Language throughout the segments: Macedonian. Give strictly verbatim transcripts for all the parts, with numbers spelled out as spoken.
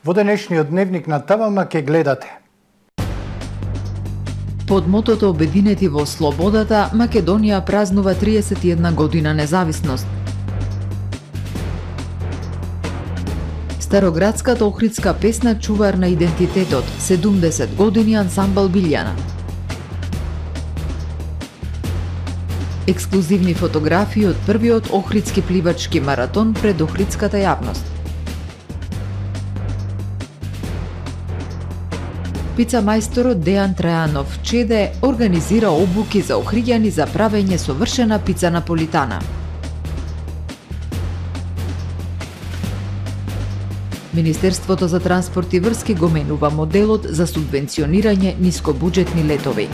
Во денешниот дневник на ТВМ ке гледате. Под мотото "Обединети во слободата", Македонија празнува триесет и една година независност. Староградската охридска песна "Чувар на идентитетот", седумдесет години ансамбл Билјана. Ексклузивни фотографии од првиот охридски пливачки маратон пред охридската јавност. Пица мајсторот Дејан Трајанов Чеде организира обуки за охриѓани за правење совршена пица наполитана. Министерството за транспорт и врски го менува моделот за субвенционирање нискобуџетни летови.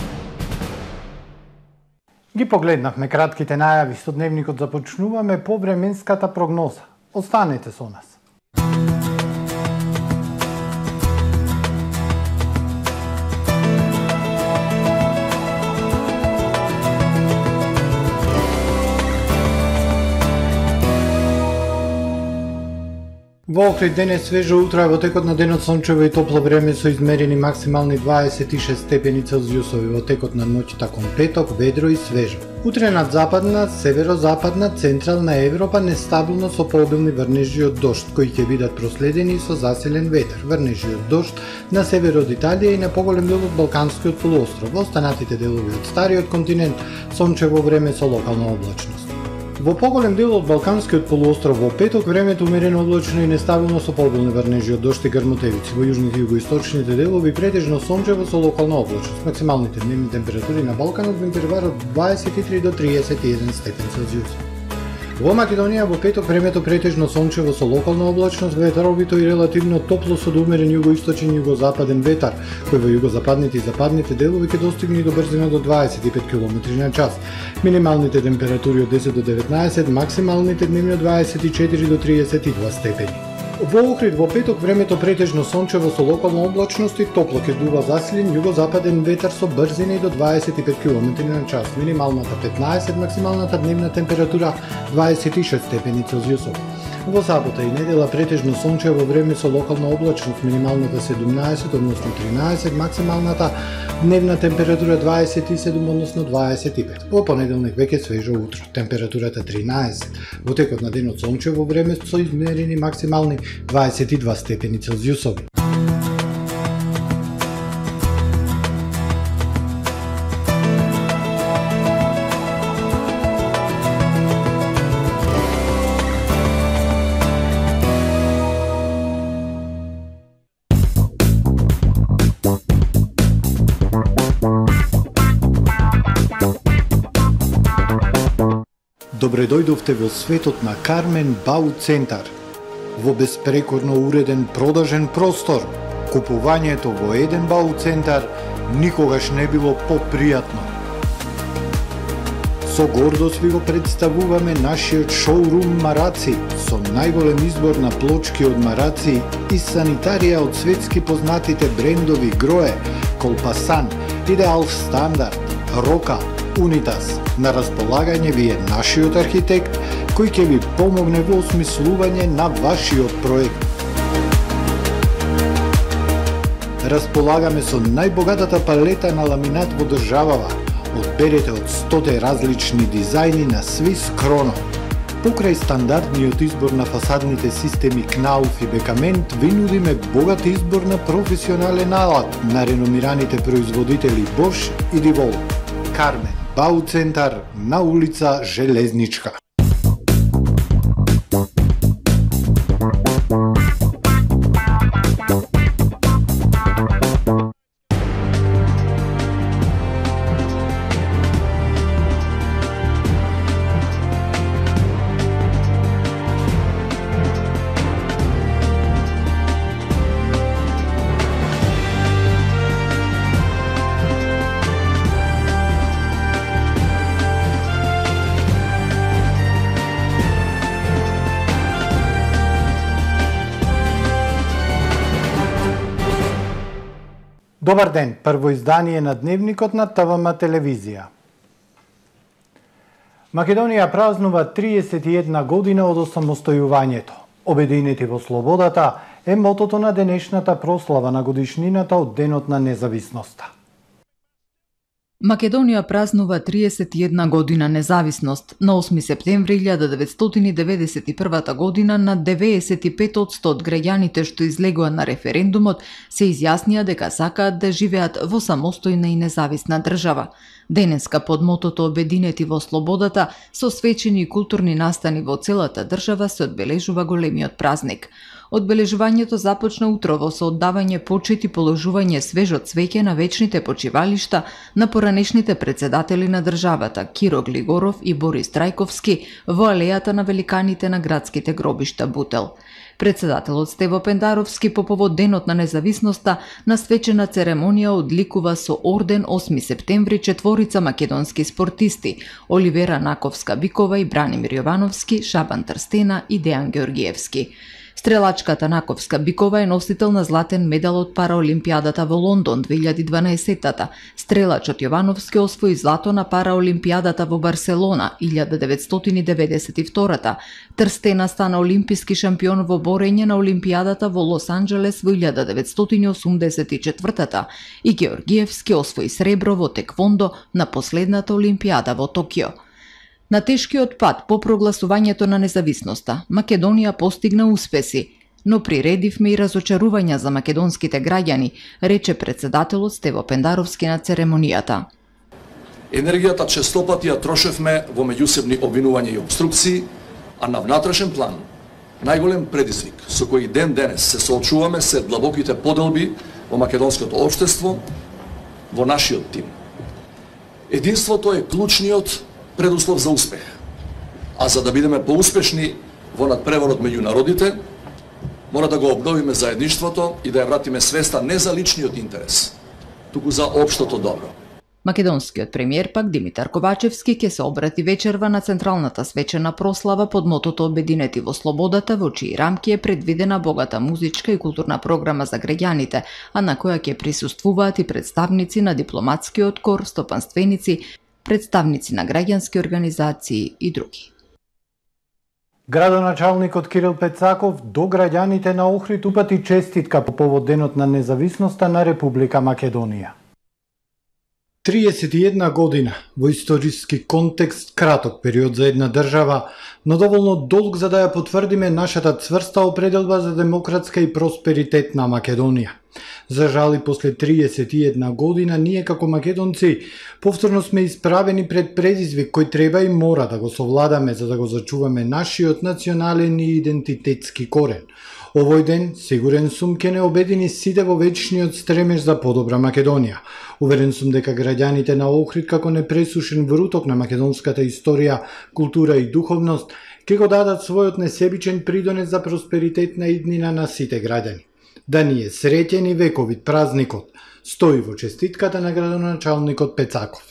Ги погледнавме кратките најави со дневникот, започнуваме по временската прогноза. Останете со нас. Во Охрид денес свежо утро, во текот на денот сончево и топло време со измерени максимални дваесет и шест степени Целзиусови, во текот на ноќта кон петок ведро и свежо. Утре над западна, северозападна, централна Европа нестабилно со пообилни врнежи од дожд, кои ќе бидат проследени со засилен ветер. Врнежи од дожд на север од Италија и на поголем дел од Балканскиот полуостров. Во останатите делови од стариот континент сончево време со локална облачност. Во поголем дел од Балканскиот полуостров во петок времето умерено облачно и нестабилно со пообилни врнежи од дожд и грмотевици. Во јужните и југоисточните делови претежно сончево со локална облачност. Максималните дневни температури на Балканот во интервал од дваесет и три до триесет и еден степен Целзиус. Во Македонија во петок времето претежно сончево со локална облачност, ветровито и релативно топло со умерен југоисточен и југозападен ветар, кој во југозападните и западните делови ќе достигне и до брзина до дваесет и пет километри на час. Минималните температури од десет до деветнаесет, максималните дневни од дваесет и четири до триесет и два степени. Во Охрид во петок времето претежно сончево со локална облачност и топло ќе дува засилен југозападен ветар со брзина и до дваесет и пет километри на час. Минималната петнаесет, максималната дневна температура дваесет и шест степени Целзиусови. Во сабота и недела претежно сончево време со локална облачност, минималната седумнаесет, односно тринаесет, максималната дневна температура дваесет и седум, односно дваесет и пет. Во понеделник веќе свежо утро, температурата тринаесет. Во текот на денот сончево време со измерени максимални дваесет и два степени Целзиусови. Добре дојдовте во светот на Кармен Бау Центар. Во безпрекорно уреден продажен простор, купувањето во еден Бау Центар никогаш не било попријатно. Со гордост ви го представуваме нашиот шоурум Мараци, со најголем избор на плочки од Мараци и санитарија од светски познатите брендови Грое, Колпасан, Идеал Стандард, Рока, Унитас. На располагање ви е нашиот архитект, кој ќе ви помогне во осмислување на вашиот проект. Располагаме со најбогатата палета на ламинат во државава. Одберете од стоте различни дизајни на Swiss Chrono. Покрај стандардниот избор на фасадните системи Knauf и Бекамент, ви нудиме богат избор на професионален алат на реномираните производители Bosch и Divol. Кармен Бау Центар на улица Железничка. Добар ден, прво издание на Дневникот на ТВМ телевизија. Македонија празнува триесет и една година од осамостојувањето. Обединети во слободата е мотото на денешната прослава на годишнината од Денот на независноста. Македонија празнува триесет и една година независност. На осми септември илјада деветстотини деветдесет и прва година на деветдесет и пет одсто од граѓаните што излегоа на референдумот се изјаснија дека сакаат да живеат во самостојна и независна држава. Денеска под мотото Обединети во слободата со свечени и културни настани во целата држава се одбележува големиот празник. Одбележувањето започна утрово со оддавање почит и положување свежо цвеќе на вечните почивалишта на поранешните председатели на државата Киро Глигоров и Борис Трајковски во алејата на великаните на градските гробишта Бутел. Председателот Стево Пендаровски по повод Денот на независноста на свечена церемонија одликува со орден осми септември четворица македонски спортисти Оливера Наковска-Бикова и Бранимир Јовановски, Шабан Трстена и Дејан Георгиевски. Стрелачката Наковска-Бикова е носител на златен медал од Параолимпијадата во Лондон две илјади и дванаесеттата. Стрелачот Јовановски освои злато на Параолимпијадата во Барселона илјада деветстотини деветдесет и втората. Трстена стана олимписки шампион во борење на Олимпијадата во Лос Анџелес во илјада деветстотини осумдесет и четвртата и Георгиевски освои сребро во теквондо на последната Олимпијада во Токио. На тешкиот пат по прогласувањето на независноста, Македонија постигна успеси, но приредивме и разочарувања за македонските граѓани, рече председателот Стево Пендаровски на церемонијата. Енергијата честопати ја трошевме во меѓусебни обвинувања и обструкции, а на внатрешен план најголем предизвик со кој ден денес се соочуваме се длабоките поделби во македонското општество, во нашиот тим. Единството е клучниот предуслов за успех. А за да бидеме поуспешни во надпреворот меѓу народите, мора да го обновиме заедништвото и да ја вратиме свеста не за личниот интерес, туку за општото добро. Македонскиот премиер пак Димитар Ковачевски ќе се обрати вечерва на централната свечена прослава под мотото Обединети во слободата, во чии рамки е предвидена богата музичка и културна програма за граѓаните, а на која ќе присуствуваат и представници на дипломатскиот кор, стопанственици, представници на граѓански организации и други. Градоначалникот Кирил Пецаков до граѓаните на Охрид упати честитка по повод Денот на независноста на Република Македонија. триесет и една година во историски контекст краток период за една држава, но доволно долг за да ја потврдиме нашата цврста определба за демократска и просперитетна Македонија. За жал и после триесет и една година ние како македонци повторно сме исправени пред предизвик кој треба и мора да го совладаме за да го зачуваме нашиот национален и идентитетски корен. Овој ден, сигурен сум, ќе не обедини сите во вечниот стремеж за подобра Македонија. Уверен сум дека граѓаните на Охрид како непресушен вруток на македонската историја, култура и духовност ќе го дадат својот несебичен придонес за просперитетна иднина на сите граѓани. Да ни е среќен и вековит празникот, стои во честитката на градоначалникот Пецаков.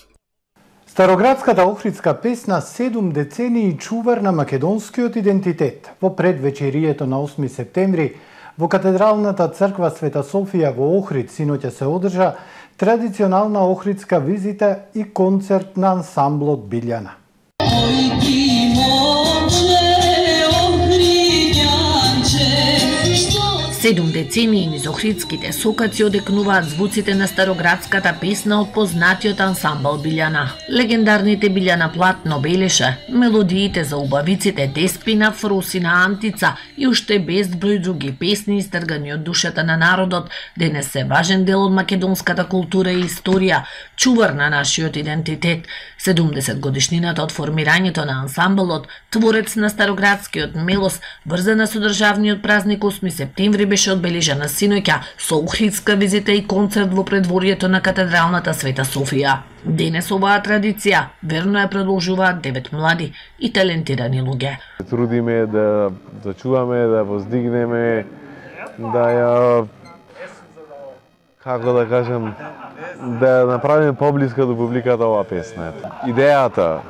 Староградската охридска песна седум децении чувар на македонскиот идентитет во предвечерието на осми септември во катедралната црква Света Софија во Охрид синоќа се одржа традиционална охридска визита и концерт на ансамблот Билјана. Седум децении низ охридските сокаци одекнуваат звуците на староградската песна од познатиот ансамбл Билјана. Легендарните Билјана Платно Белеше, мелодиите за убавиците Деспина, Фрусина, Антица и уште безброј други песни истргани од душата на народот, денес се важен дел од македонската култура и историја, чувар на нашиот идентитет. седумдесет годишнината од формирањето на ансамблот, творец на староградскиот мелос, врзана со државниот празник осми септември, беше одбележана синоќа со охридска визита и концерт во предворието на катедралната Света Софија. Денес оваа традиција верно ја продолжуваат девет млади и талентирани луѓе. Трудиме да зачуваме, да воздигнеме, да ја, како да кажем, да направиме поблиска до публиката оваа песна. Идејата,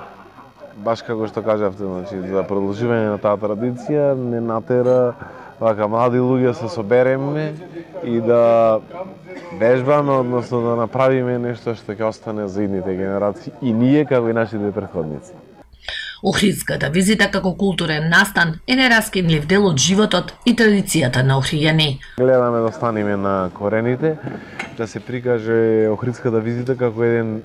баш како што кажавте, значи, за продолжување на таа традиција не натера вака млади луѓе се собереме и да вежбаме, односно да направиме нешто што ќе остане за идните генерации и ние како и нашите претходници. Охридската визита како културен настан е нераскинлив дел од животот и традицијата на охриѓани. Гледаме да останеме на корените, да се прикаже Охридската визита како еден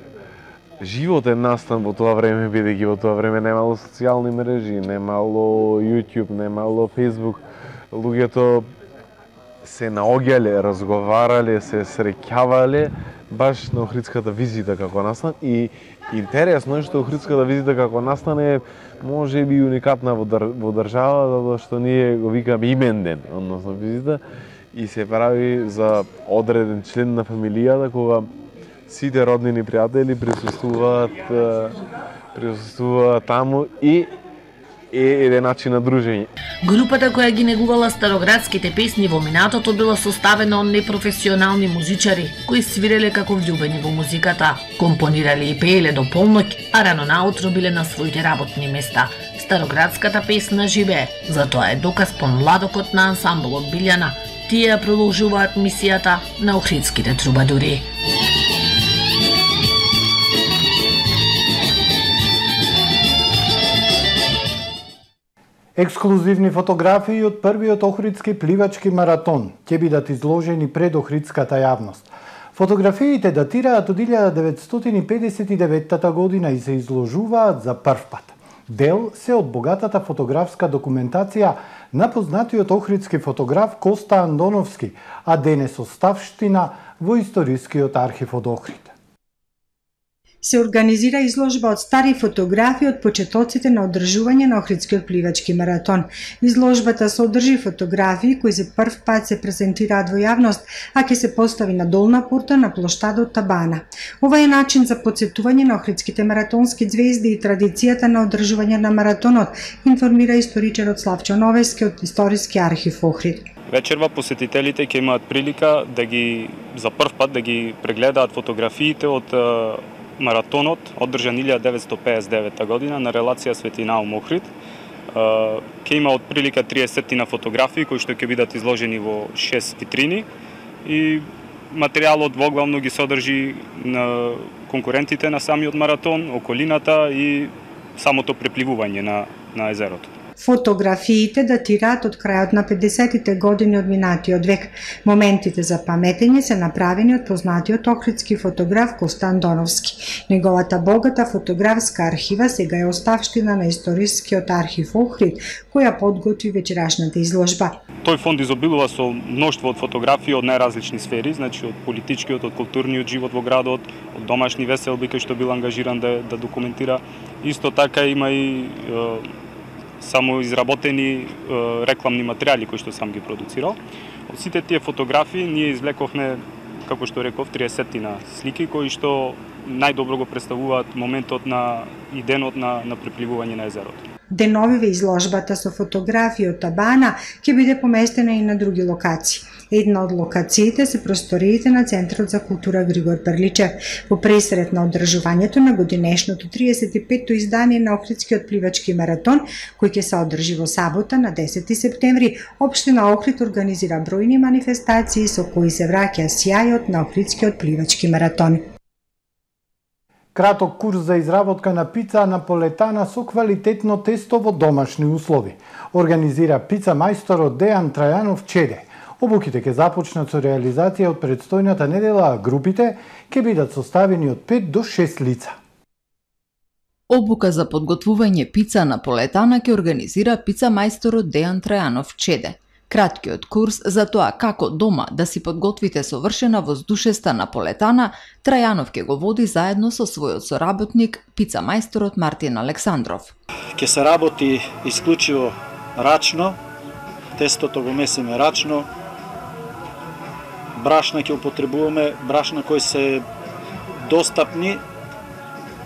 животен настан во тоа време, бидејќи во тоа време немало социјални мрежи, немало YouTube, немало Facebook. Луѓето се наоѓале, разговарале, се среќавале баш на Охридската визита како настан и интересно е што Охридската визита како настан е може би уникатна во, дар, во држава, затоа што ние го викаме имен ден, односно визита, и се прави за одреден член на фамилијата кога сите роднини пријатели присуствуваат присуствуваат таму и е еден начин на дружење. Групата која ги негувала староградските песни во минатото била составена од непрофесионални музичари кои свиреле како влюбени во музиката, компонирале и пееле до полноќ, а рано наутро биле на своите работни места. Староградската песна живее, затоа е доказ помладокот на ансамблот Билјана. Тие ја продолжуваат мисијата на охридските трубадури. Ексклузивни фотографии од првиот охридски пливачки маратон ќе бидат изложени пред охридската јавност. Фотографиите датираат од илјада деветстотини педесет и девета година и се изложуваат за прв пат. Дел се од богатата фотографска документација на познатиот охридски фотограф Коста Андоновски, а денес оставштина во историскиот архив од Охрид. Се организира изложба од стари фотографии од почетоците на одржување на Охридскиот пливачки маратон. Изложбата содржи фотографии кои за прв пат се презентираат во јавност, а ќе се постави на долна порта на плоштадот Табана. Ова е начин за потсетување на охридските маратонски звезди и традицијата на одржување на маратонот, информира историчарот Славчо Новески од Историски архив Охрид. Вечерва посетителите ќе имаат прилика да ги за прв пат да ги прегледаат фотографиите од маратонот одржан илјада деветстотини педесет и девета година на релација Свети Наум Охрид. Ќе има од прилика триесет на фотографии кои што ќе бидат изложени во шест витрини и материјалот воглавно ги содржи на конкурентите на самиот маратон, околината и самото препливување на на езерото. Фотографиите датираат од крајот на педесетите години од минатиот век. Моментите за паметење се направени од познатиот охридски фотограф Коста Андоновски. Неговата богата фотографска архива сега е оставштина на Историскиот архив Охрид, која подготви вечерашната изложба. Тој фонд изобилува со мноштво од фотографии од најразлични сфери, значи од политичкиот, од културниот живот во градот, од домашни веселби кои што бил ангажиран да, да документира. Исто така има и само изработени е, рекламни материјали кои што сам ги продуцирал. Од сите тие фотографии ние извлековме, како што реков, триесет на слики кои што најдобро го представуваат моментот на и денот на, на препливување на езерото. Деновиве изложбата со фотографии од Табана ќе биде поместена и на други локации. Една од локациите се просториите на Центарот за култура Григор Перличев. Во пресред на одржувањето на годинешното триесет и петто издание на Охридскиот пливачки маратон, кој ќе се одржи во сабота на десети септември, општина Охрид организира бројни манифестации со кои се враќа сјајот на Охридскиот пливачки маратон. Краток курс за изработка на пица наполетана со квалитетно тесто во домашни услови. Организира пица мајсторот Дејан Трајанов Чеде. Обуките ќе започнат со реализација од предстојната недела, а групите ќе бидат составени од пет до шест лица. Обука за подготвување пица наполетана ќе организира пица мајсторот Дејан Трајанов Чеде. Краткиот курс за тоа како дома да си подготвите совршена воздушеста наполетана, Трајанов ќе го води заедно со својот соработник, пица мајсторот Мартин Александров. Ќе се работи исклучиво рачно, тестото го месиме рачно, брашна ќе употребуваме, брашна кои се достапни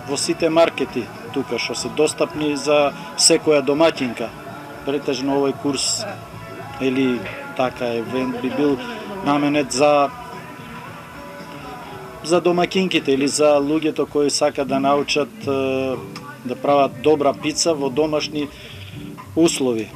во сите маркети тука, што се достапни за секоја домаќинка. Претежно овој курс или така евент би бил наменет за за домаќинките или за луѓето кои сакаат да научат да прават добра пица во домашни услови.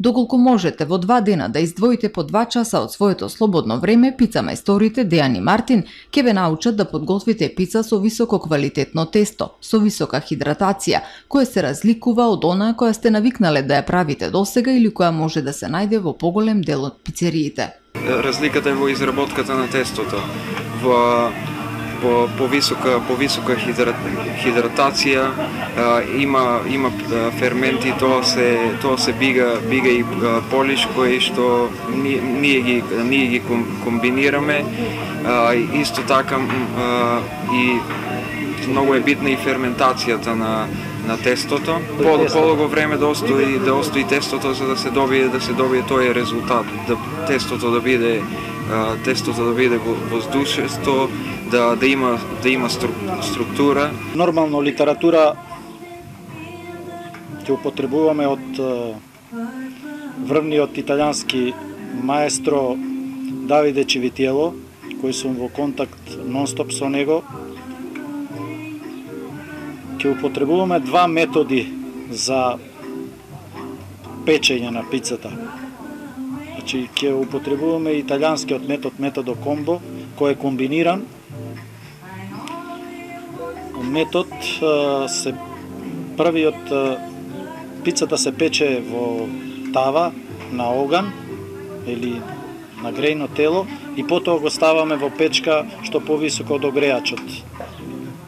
Доколку можете во два дена да издвоите по два часа од своето слободно време, пица мајсторите Дејан и Мартин ќе ве научат да подготвите пица со високо квалитетно тесто, со висока хидратација, која се разликува од онаа која сте навикнале да ја правите досега или која може да се најде во поголем дел од пицериите. Разликата е во изработката на тестото, во по повисока повисока хидрат, хидратација, а, има има ферменти, тоа се тоа се бига бига и полиш кои што ние, ние ги ние ги комбинираме, а, исто така а, и многу е битна и ферментацијата на на тестото. По подолго време да остои да остои тестото за да се добие да се добие тој резултат, да тестото да биде а, тестото да биде воздушесто, да да има да има структура. Нормално литература ќе употребуваме од врвниот италијански маестро Давиде Чивитиело, кој сум во контакт нонстоп со него. Ќе употребуваме два методи за печење на пицата. Значи, ќе употребуваме италијанскиот метод, методо комбо, кој е комбиниран. Метод се првиот пицата се пече во тава на оган или на грејно тело и потоа го ставаме во печка што повисоко од огреачот.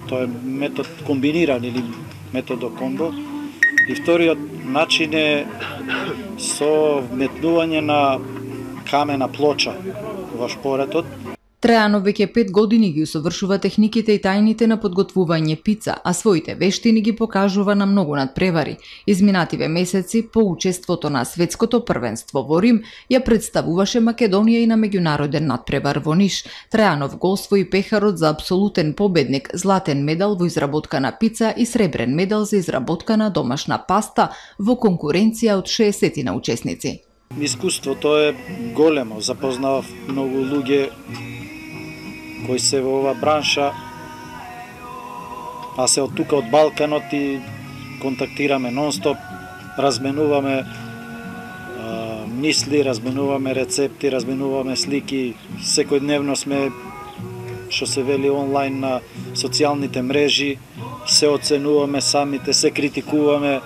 Тоа е метод комбиниран или методо комбо. И вториот начин е со вметнување на камена плоча во шпоретот. Трајано веќе пет години ги усовршува техниките и тајните на подготвување пица, а своите вештини ги покажува на многу надпревари. Изминативе месеци, по учеството на светското првенство во Рим, ја представуваше Македонија и на меѓународен надпревар во Ниш. Трајанов го освои пехарот за апсолутен победник, златен медал во изработка на пица и сребрен медал за изработка на домашна паста во конкуренција од шеесет на учесници. Искуството е големо, запознав многу луѓе кои се во ова бранша, а се од тука од Балканот и контактираме нонстоп, разменуваме а, мисли, разменуваме рецепти, разменуваме слики, секојдневно сме, што се вели онлайн на социјалните мрежи, се оценуваме самите, се критикуваме.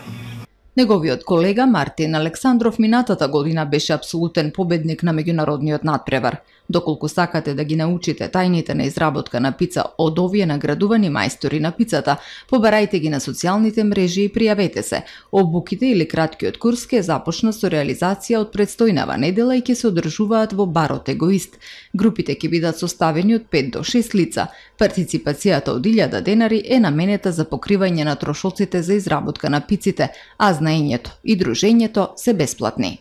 Неговиот колега Мартин Александров минатата година беше апсолутен победник на меѓународниот надпревар. Доколку сакате да ги научите тајните на изработка на пица од овие наградувани мајстори на пицата, побарајте ги на социјалните мрежи и пријавете се. Обуките или краткиот курс ќе започна со реализација од предстојнава недела и ќе се одржуваат во барот Егоист. Групите ќе бидат составени од пет до шест лица. Партиципацијата од илјада денари е наменета за покривање на трошоците за изработка на пиците, а знаењето и дружењето се бесплатни.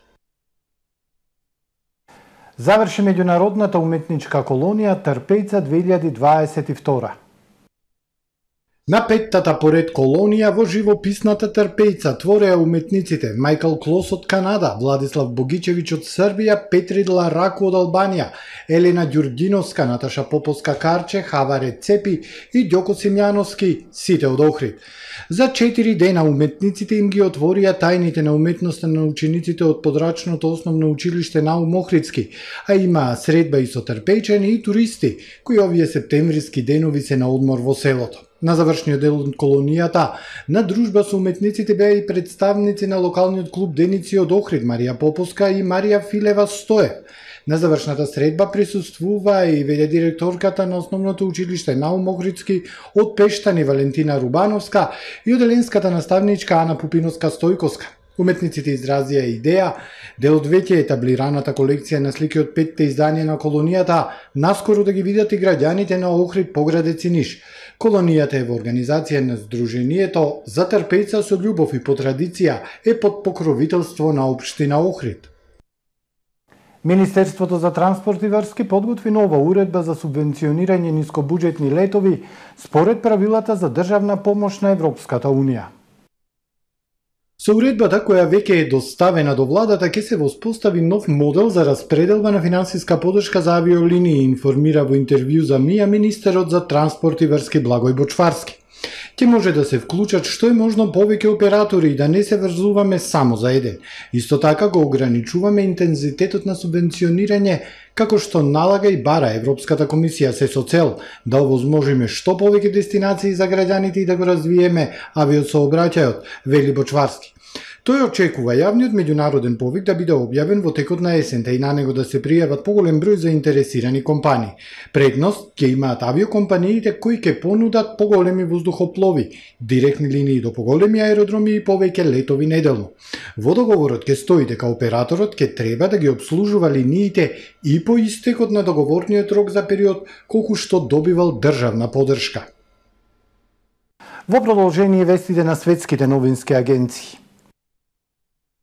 Заврши меѓународната уметничка колонија Трпејца две илјади дваесет и втора. На петтата поред колонија во живописната Трпејца твореа уметниците Мајкл Клос од Канада, Владислав Богичевиќ од Србија, Петридла Раку од Албанија, Елена Ѓурѓиновска, Наташа Поповска Карче, Хаваре Цепи и Ѓоко Симјановски, сите од Охрид. За четири дена уметниците им ги отворија тајните на уметноста на учениците од подрачното основно училиште Наум Охридски, а имаа средба и со трпејчани и туристи, кои овие септемвриски денови се на одмор во селото. На завршниот дел од колонијата, на дружба со уметниците беа и представници на локалниот клуб Деници од Охрид, Марија Поповска и Марија Филева Стоев. На завршната средба присуствува и веле директорката на основното училиште Наум Охридски од Пештани Валентина Рубановска и оделенската наставничка Ана Пупиновска Стојковска. Уметниците изразија идеја дел од веќе етаблираната колекција на слики од петте издања на колонијата наскоро да ги видат и граѓаните на Охрид, Поградец и Ниш. Колонијата е во организација на Сдруженијето за Трпејца со љубов и по традиција е под покровителство на општина Охрид. Министерството за транспорт и врски подготви нова уредба за субвенционирање нискобуџетни летови според правилата за државна помош на Европската унија. Со уредбата која веќе е доставена до владата ќе се воспостави нов модел за распределба на финансиска подршка за авиолинии, информира во интервју за МИА министерот за транспорт и врски Благој Бочварски. Ќе може да се вклучат што е можно повеќе оператори и да не се врзуваме само за еден. Исто така го ограничуваме интензитетот на субвенционирање, како што налага и бара Европската комисија, се со цел да овозможиме што повеќе дестинации за граѓаните и да го развиеме авиосообраќајот, вели Бочварски. Тој очекува јавниот меѓународен повик да биде објавен во текот на есента и на него да се пријават поголем број заинтересирани компании. Предност ќе имаат авиокомпаниите кои ќе понудат поголеми воздухоплови, директни линии до поголеми аеродроми и повеќе летови неделно. Во договорот ќе стои дека операторот ќе треба да ги обслужува линиите и по истекот на договорниот рок за период колку што добивал државна поддршка. Во продолжение вестите на светските новински агенции.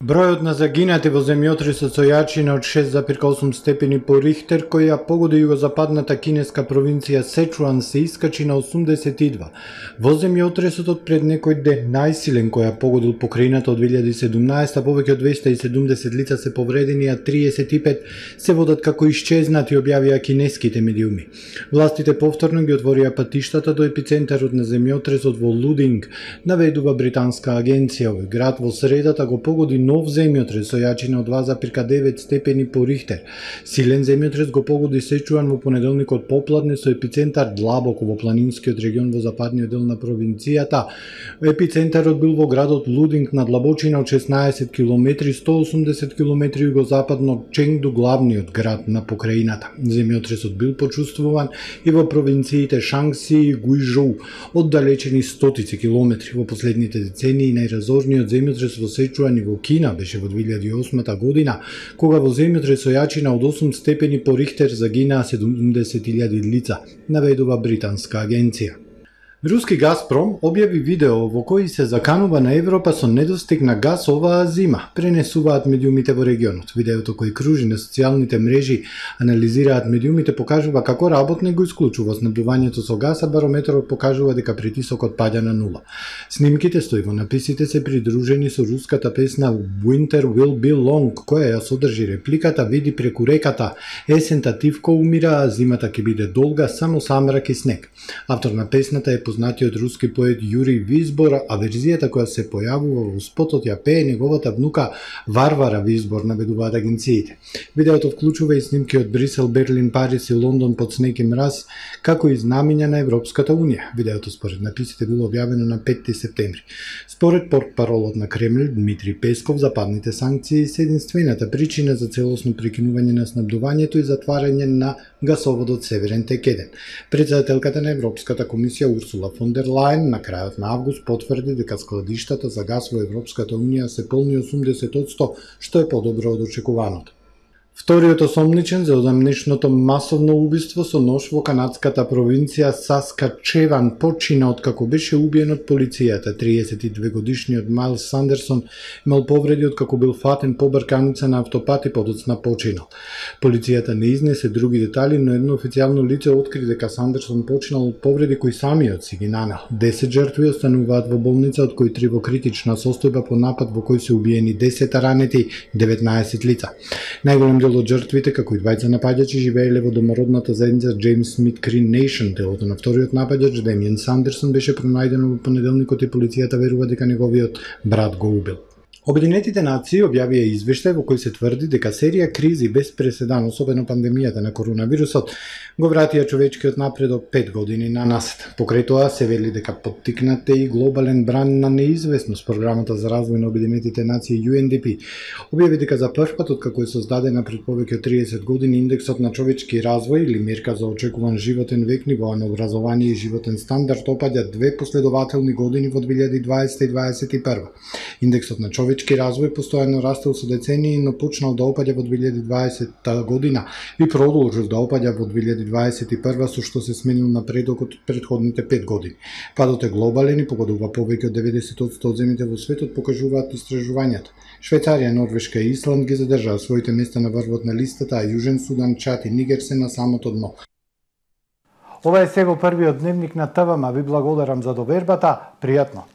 Бројот на загинати во земјотресот со јачина од шест зарез осум степени по Рихтер, кој ја погоди југозападната кинеска провинција Сечуан, се искачи на осумдесет и два. Во земјотресот од пред некој ден, најсилен кој ја погодил покрајната од две илјади и седумнаесета, повеќе од двеста и седумдесет лица се повредени, а триесет и пет се водат како исчезнати, објавија кинеските медиуми. Властите повторно ги отворија патиштата до епицентарот на земјотресот во Лудинг, наведува британска агенција. Овој град во средата го погоди нов земјотрес со јачина од два зарез девет степени по Рихтер. Силен земјотрес го погоди Сечуан во понеделникот попладне со епицентар длабоко во планинскиот регион во западниот дел на провинцијата. Епицентарот бил во градот Лудинг на длабочина од шеснаесет километри, сто и осумдесет километри југозападно од Ченгду, главниот град на покрајината. Земјотресот бил почувствуван и во провинциите Шангси и Гујжоу, оддалечени стотици километри. Во последните децении најразорниот земјотрес во Сечуан и во Кина беше во две илјади и осма година, кога во земјотрес со јачина од осум степени по Рихтер загинаа седумдесет илјади лица, наведува британска агенција. Руски Газпром објави видео во кој се заканува на Европа со недостиг на газ оваа зима, пренесуваат медиумите во регионот. Видеото кој кружи на социјалните мрежи, анализираат медиумите, покажува како работник го исклучува снабдувањето со газ, а барометрот покажува дека притисокот паѓа на нула. Снимките стои во написите се придружени со руската песна Winter Will Be Long, која ја содржи репликата "Види преку реката, есента тивко умира, а зимата ќе биде долга, само самрак и снег". Автор на песната е познатиот руски поет Јури Визбор, а верзијата која се појавува во спотот ја пее неговата внука Варвара Визбор, наведуваат агенциите. Видеото вклучува и снимки од Брисел, Берлин, Париз и Лондон под снег и мраз, како и знамиња на Европската унија. Видеото според написите било објавено на петти септември. Според портпаролот на Кремљ Дмитри Песков, западните санкции се единствената причина за целосно прекинување на снабдувањето и затварање на гасоводот Северен тек еден. Председателката на Европската комисија Урсула фон дер Лајен на крајот на август потврди дека складиштата за газ во Европската унија се полни осумдесет одсто, што е подобро од очекуваното. Вториот осомничен за одамнешното масовно убиство со нож во канадската провинција Саскачеван почина откако беше убиен од полицијата. триесет и две годишниот Майлс Сандерсон имал повреди откако бил фатен по брканица на автопат и подоцна починал. Полицијата не изнесе други детали, но едно официјално лице откри дека Сандерсон починал од повреди кои самиот си ги нанел. десет жртви остануваат во болница, од кои три во критична состојба по напад во кој се убиени десет, а ранети деветнаесет лица. Најголем дел од жртвите, како и двајца напаѓачи, живееле во домородната заедница Джеймс Смит Крин Нейшн. Телото на вториот напаѓач, Демиен Сандерсон, беше пронајдено во понеделникот и полицијата верува дека неговиот брат го убил. Обединетите нации објавија извештај во кој се тврди дека серија кризи без преседан, особено пандемијата на коронавирусот, го вратија човечкиот напредок пет години на насет. Покрај тоа се вели дека поттикнате и глобален бран на неизвестност. Програмата за развој на Обединетите нации Ю Ен Ди Пи објави дека за прв пат откако е создадена пред повеќе од триесет години индексот на човечки развој или мерка за очекуван животен век, нивоа на образование и животен стандард опаѓа две последователни години во две илјади и дваесета и дваесет и прва. Индексот на човечки развој постојано растел со децении, но почнал да опаѓа во две илјади и дваесета година и продолжил да опаѓа во две илјади и дваесет и прва, со што се сменил напредокот од претходните пет години. Падот е глобален и погодува повеќе од деветдесет одсто од земјите во светот, покажуваат истражувањата. Швајцарија, Норвешка и Исланд ги задржаа своите места на врвот на листата, а Јужен Судан, Чад и Нигер се на самото дно. Ова е се во првиот дневник на ТВ, ма ви благодарам за довербата. Пријатно!